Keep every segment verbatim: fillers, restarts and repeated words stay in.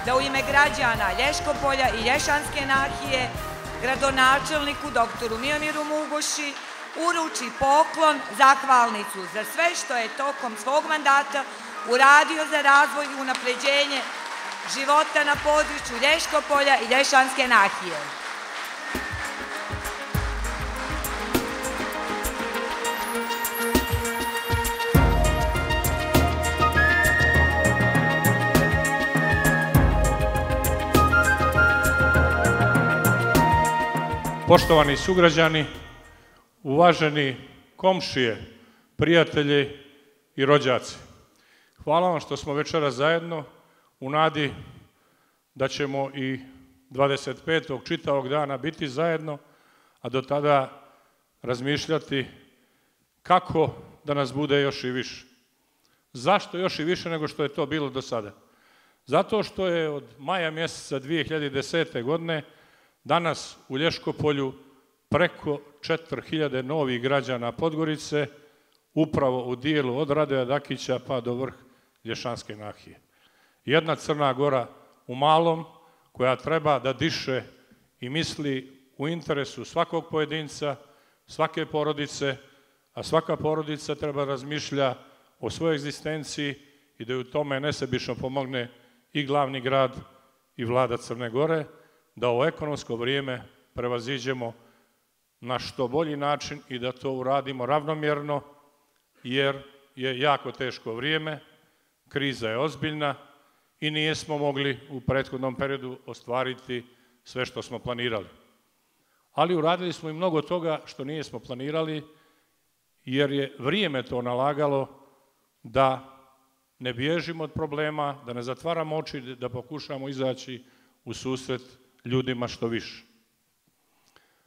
da u ime građana Lješkopolja i Lješanske nahije gradonačelniku doktoru Miomiru Mugoši uruči poklon, zahvalnicu za sve što je tokom svog mandata uradio za razvoj i unapređenje života na području Lješkopolja i Lješanske nahije. Poštovani sugrađani, uvaženi komšije, prijatelji i rođaci, hvala vam što smo večeras zajedno u nadi da ćemo i dvadeset petog čitavog dana biti zajedno, a do tada razmišljati kako da nas bude još i više. Zašto još i više nego što je to bilo do sada? Zato što je od maja mjeseca dvije hiljade desete. godine danas u Lješkopolju preko četiri hiljade novih građana Podgorice, upravo u dijelu od Radoja Dakića pa do vrh Lješanske nahije. Jedna Crna Gora u malom koja treba da diše i misli u interesu svakog pojedinca, svake porodice, a svaka porodica treba razmišlja o svojoj egzistenciji i da u tome nesebično pomogne i glavni grad i vlada Crne Gore, da ovo ekonomsko vrijeme prevaziđemo na što bolji način i da to uradimo ravnomjerno, jer je jako teško vrijeme, kriza je ozbiljna i nijesmo mogli u prethodnom periodu ostvariti sve što smo planirali. Ali uradili smo i mnogo toga što nijesmo planirali, jer je vrijeme to nalagalo da ne bježimo od problema, da ne zatvaramo oči, da pokušamo izaći u susret ljudima što više.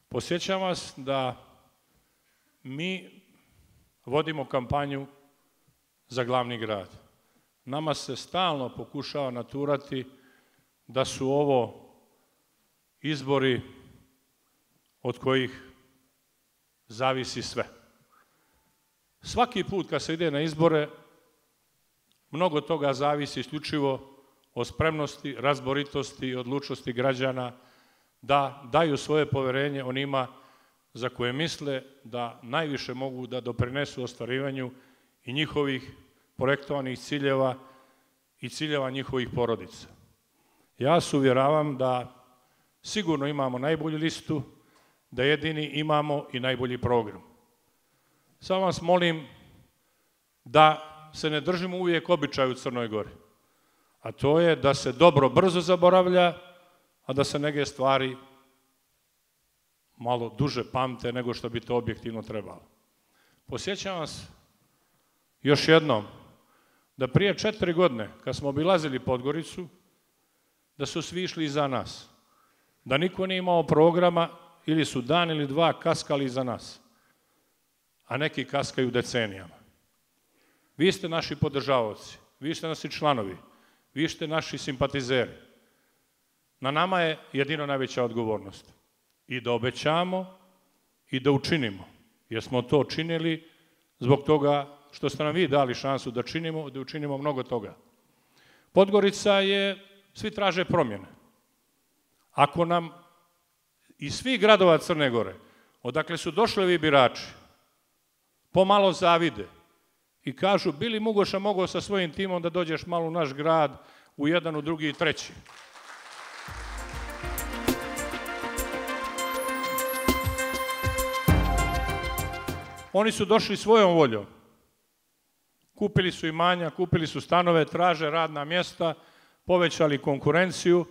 Podsjećam vas da mi vodimo kampanju za glavni grad. Nama se stalno pokušava naturati da su ovo izbori od kojih zavisi sve. Svaki put kad se ide na izbore, mnogo toga zavisi isključivo o spremnosti, razboritosti i odlučnosti građana da daju svoje poverenje onima za koje misle da najviše mogu da doprinesu ostvarivanju i njihovih projektovanih ciljeva i ciljeva njihovih porodica. Ja se uvjeravam da sigurno imamo najbolju listu, da jedini imamo i najbolji program. Samo vas molim da se ne držimo uvijek običaja u Crnoj Gori, a to je da se dobro brzo zaboravlja, a da se neke stvari malo duže pamte nego što bi to objektivno trebalo. Posjećam vas još jednom da prije četiri godine, kad smo obilazili Podgoricu, da su svi išli iza nas, da niko nije imao programa ili su dan ili dva kaskali iza nas, a neki kaskaju decenijama. Vi ste naši podržavaoci, vi ste naši članovi, vi ste naši simpatizeri. Na nama je jedino najveća odgovornost. I da obećamo i da učinimo. Jer smo to činili zbog toga što ste nam vi dali šansu da činimo, da učinimo mnogo toga. Podgorica je, svi traže promjene. Ako nam iz svih gradova Crne Gore, odakle su došli ovi birači, pomalo zavide i kažu, bili Mugoša mogao sa svojim timom da dođeš malo u naš grad, u jedan, u drugi i treći. Oni su došli svojom voljom. Kupili su imanja, kupili su stanove, traže radna mjesta, povećali konkurenciju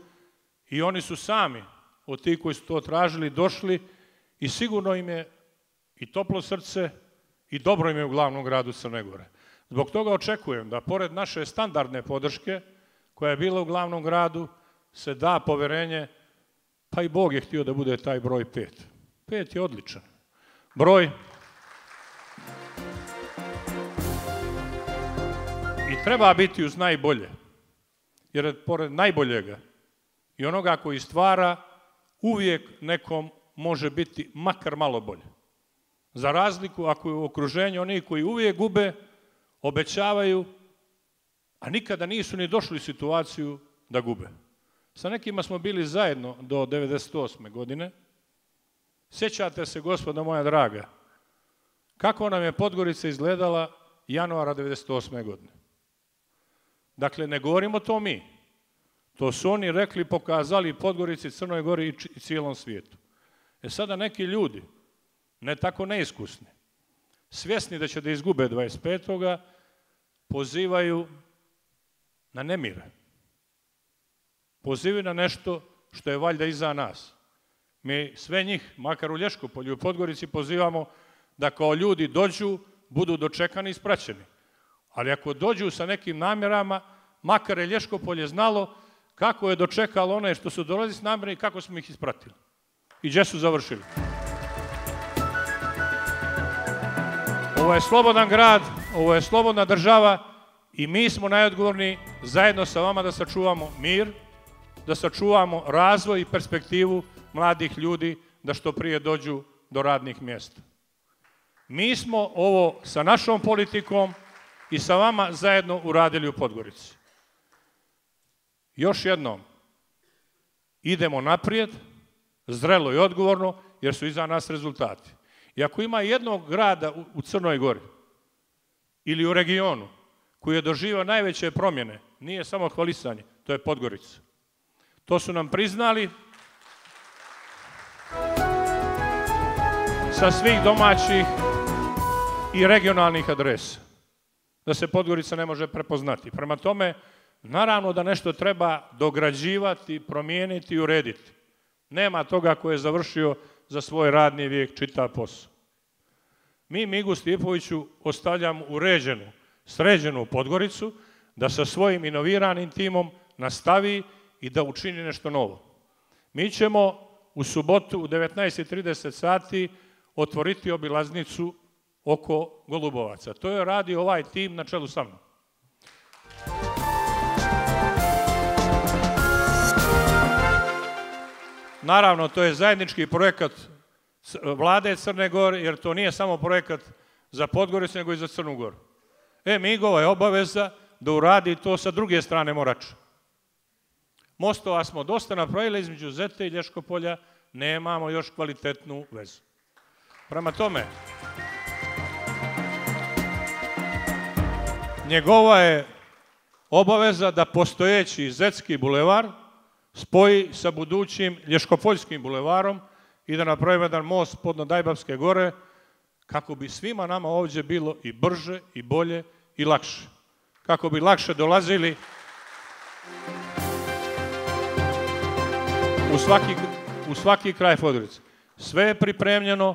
i oni su sami od tih koji su to tražili došli i sigurno im je i toplo srce i dobro im je u glavnom gradu Crne Gore. Zbog toga očekujem da pored naše standardne podrške koja je bila u glavnom gradu se da poverenje, pa i Bog je htio da bude taj broj pet. Pet je odličan broj. I treba biti uz najbolje, jer pored najboljega i onoga koji stvara, uvijek nekom može biti makar malo bolje. Za razliku ako je u okruženju oni koji uvijek gube, obećavaju, a nikada nisu ni došli u situaciju da gube. Sa nekima smo bili zajedno do devedeset osme godine. Sjećate se, gospodo moja draga, kako nam je Podgorica izgledala januara devedeset osme godine. Dakle, ne govorimo to mi. To su oni rekli, pokazali Podgorici, Crnoj Gori i cijelom svijetu. E sada neki ljudi, ne tako neiskusni, svjesni da će da izgube dvadeset petoga pozivaju na nemire. Pozivaju na nešto što je valjda iza nas. Mi sve njih, makar u Lješkopolju i Podgorici, pozivamo da kao ljudi dođu, budu dočekani i ispraćeni. Ali ako dođu sa nekim namjerama, makar je Lješkopolje znalo kako je dočekalo one što su dolazili s namjerama i kako smo ih ispratili. I gdje su završili. Ovo je slobodan grad, ovo je slobodna država i mi smo najodgovorni zajedno sa vama da sačuvamo mir, da sačuvamo razvoj i perspektivu mladih ljudi da što prije dođu do radnih mjesta. Mi smo ovo sa našom politikom i sa vama zajedno uradili u Podgorici. Još jednom, idemo naprijed, zrelo i odgovorno, jer su iza nas rezultati. I ako ima jednog grada u Crnoj Gori ili u regionu koji je doživio najveće promjene, nije samo hvalisanje, to je Podgorica. To su nam priznali sa svih domaćih i regionalnih adresa, da se Podgorica ne može prepoznati. Prema tome, naravno da nešto treba dograđivati, promijeniti i urediti. Nema toga ko je završio za svoj radni vijek čitav posao. Mi Migu Stipoviću ostavljamo uređenu, sređenu Podgoricu, da sa svojim inoviranim timom nastavi i da učini nešto novo. Mi ćemo u subotu u devetnaest i trideset sati otvoriti obilaznicu oko Golubovaca. To je radio ovaj tim na čelu sa mnom. Naravno, to je zajednički projekat vlade Crne Gore, jer to nije samo projekat za Podgoricu, nego i za Crnu Goru. E, Migova je obaveza da uradi to sa druge strane Morača. Mostova smo dosta napravili između Zete i Lješkopolja, nemamo još kvalitetnu vezu. Prema tome, njegova je obaveza da postojeći Zetski bulevar spoji sa budućim Lješkopoljskim bulevarom i da napravimo jedan most podno Dajbavske gore, kako bi svima nama ovdje bilo i brže, i bolje, i lakše. Kako bi lakše dolazili u svaki, u svaki kraj Podgorice. Sve je pripremljeno,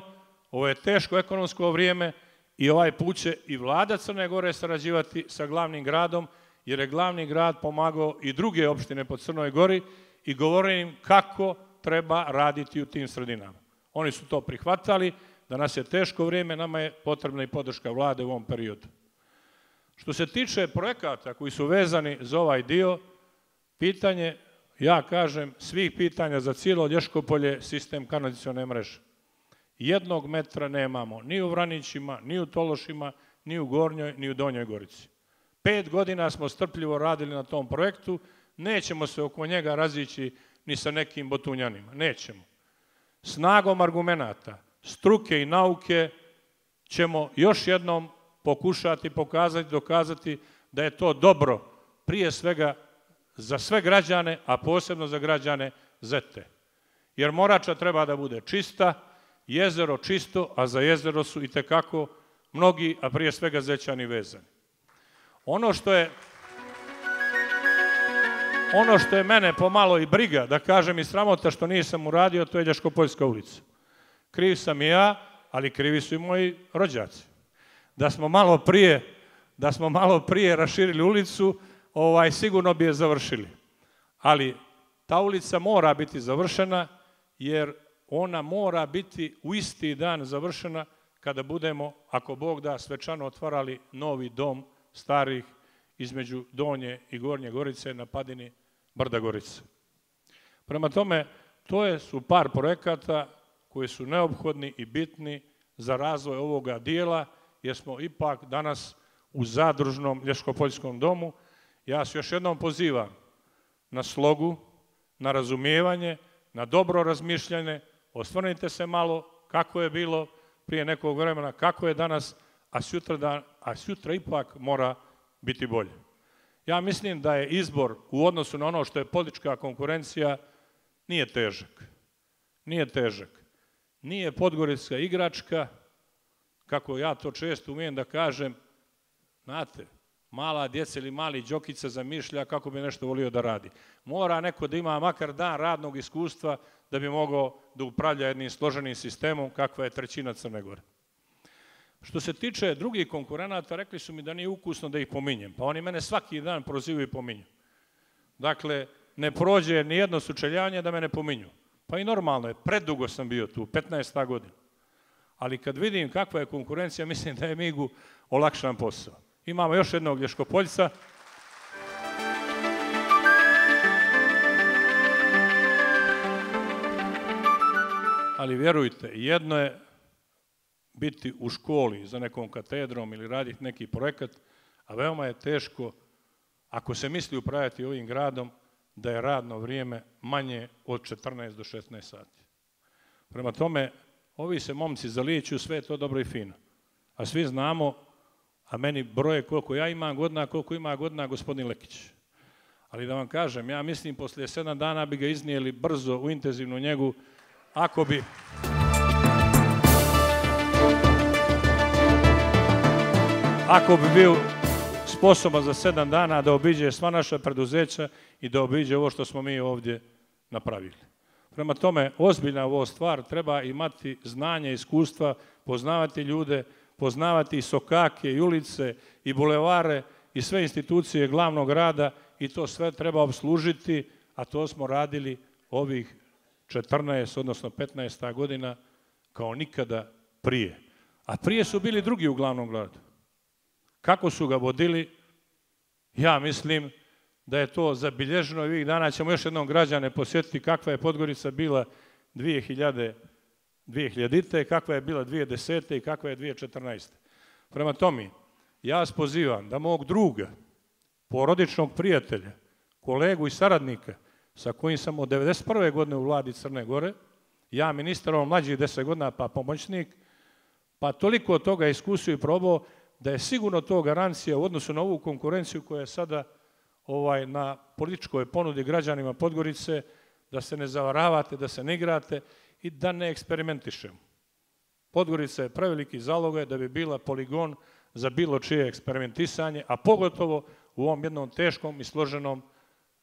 ovo je teško ekonomsko vrijeme i ovaj put će i vlada Crne Gore sarađivati sa glavnim gradom, jer je glavni grad pomagao i druge opštine po Crnoj Gori i govori im kako treba raditi u tim sredinama. Oni su to prihvatali, da nas je teško vrijeme, nama je potrebna i podrška vlade u ovom periodu. Što se tiče projekata koji su vezani za ovaj dio, pitanje, ja kažem, svih pitanja za cijelo Lješkopolje sistem kanalizacione mreže. Jednog metra nemamo ni u Vranićima, ni u Tološima, ni u Gornjoj, ni u Donjoj Gorici. Pet godina smo strpljivo radili na tom projektu, nećemo se oko njega razići ni sa nekim botunjanima, nećemo. Snagom argumenata, struke i nauke ćemo još jednom pokušati, pokazati, dokazati da je to dobro prije svega za sve građane, a posebno za građane Zete. Jer Morača treba da bude čista, jezero čisto, a za jezero su i tekako mnogi, a prije svega Zećani vezani. Ono što je Ono što je mene pomalo i briga, da kažem i sramota što nisam uradio, to je Lješkopoljska ulica. Kriv sam i ja, ali krivi su i moji rođaci. Da smo malo prije, da smo malo prije raširili ulicu, ovaj, sigurno bi je završili. Ali ta ulica mora biti završena, jer ona mora biti u isti dan završena kada budemo, ako Bog da, svečano otvarali novi dom starih između Donje i Gornje Gorice na padini Brda Gorice. Prema tome, to su par projekata koji su neophodni i bitni za razvoj ovoga dijela, jer smo ipak danas u zadružnom Lješkopoljskom domu. Ja se još jednom pozivam na slogu, na razumijevanje, na dobro razmišljanje. Osvrnite se malo kako je bilo prije nekog vremena, kako je danas, a sutra, da, a sutra ipak mora biti bolje. Ja mislim da je izbor u odnosu na ono što je politička konkurencija nije težak. Nije težak. Nije podgorička igračka, kako ja to često umijem da kažem, znate, mala djeca ili mali Đokica zamišlja kako bi nešto volio da radi. Mora neko da ima makar dan radnog iskustva da bi mogao da upravlja jednim složenim sistemom kakva je trećina Crne Gore. Što se tiče drugih konkurenata, rekli su mi da nije ukusno da ih pominjem, pa oni mene svaki dan prozivaju i pominju. Dakle, ne prođe ni jedno sučeljavanje da me ne pominju. Pa i normalno je, predugo sam bio tu, petnaesta godina. Ali kad vidim kakva je konkurencija, mislim da je Migu olakšan posao. Imamo još jednog Lješkopoljca. Ali vjerujte, jedno je biti u školi za nekom katedrom ili raditi neki projekat, a veoma je teško, ako se misli upravljati ovim gradom, da je radno vrijeme manje od četrnaest do šesnaest sati. Prema tome, ovi se momci zalijeću, sve je to dobro i fino. A svi znamo, a meni broje koliko ja imam godina, koliko ima godina gospodin Lekić. Ali da vam kažem, ja mislim poslije sedam dana bi ga iznijeli brzo u intenzivnu njegu, ako bi... Ako bi bio sposoban za sedam dana da obiđe sva naša preduzeća i da obiđe ovo što smo mi ovdje napravili. Prema tome, ozbiljna ovo stvar, treba imati znanje, iskustva, poznavati ljude, poznavati i sokake, i ulice, i bulevare, i sve institucije glavnog grada i to sve treba obslužiti, a to smo radili ovih četrnaest, odnosno petnaest godina kao nikada prije. A prije su bili drugi u glavnom gradu. Kako su ga vodili, ja mislim da je to zabilježeno i ovih dana ćemo još jednom građane posjetiti kakva je Podgorica bila dvije hiljadite. kakva je bila dvije hiljade desete. i kakva je dvije hiljade četrnaeste. Prema tome, ja vas pozivam da mog druga, porodičnog prijatelja, kolegu i saradnika, sa kojim sam od devedeset prve godine u vladi Crne Gore, ja ministar, on mlađi deset godina, pa pomoćnik, pa toliko toga iskusio i probao, da je sigurno to garancija u odnosu na ovu konkurenciju koja je sada ovaj, na političkoj ponudi građanima Podgorice, da se ne zavaravate, da se ne igrate i da ne eksperimentišemo. Podgorica je preveliki zalogaj da bi bila poligon za bilo čije eksperimentisanje, a pogotovo u ovom jednom teškom i složenom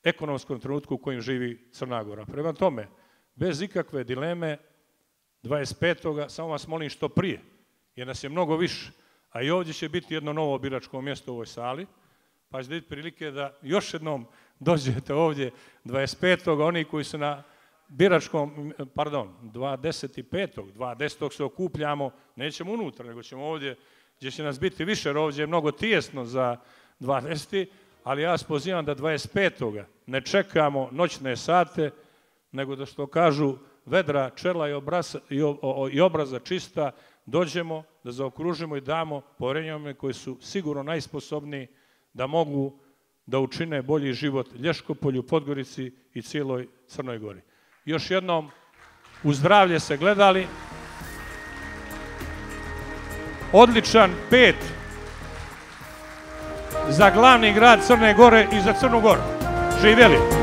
ekonomskom trenutku u kojem živi Crna Gora. Prema tome, bez ikakve dileme, dvadeset petog samo vas molim što prije, jer nas je mnogo više, a i ovdje će biti jedno novo biračko mjesto u ovoj sali, pa će biti prilike da još jednom dođete ovdje dvadeset petog oni koji su na biračkom, pardon, dvadeset petog dvadesetog se okupljamo, nećemo unutra, nego ćemo ovdje, gdje će nas biti više, jer ovdje je mnogo tijesno za dvadeseti, ali ja vas pozivam da dvadeset petog ne čekamo noćne sate, nego da što kažu vedra, čela i obraza, i obraza čista, dođemo da zaokružimo i damo poverenjama koji su sigurno najsposobniji da mogu da učine bolji život Lješkopolju, Podgorici i cijeloj Crnoj Gori. Još jednom, u zdravlje se gledali. Odličan pet za glavni grad Crne Gore i za Crnu Goru. Živjeli!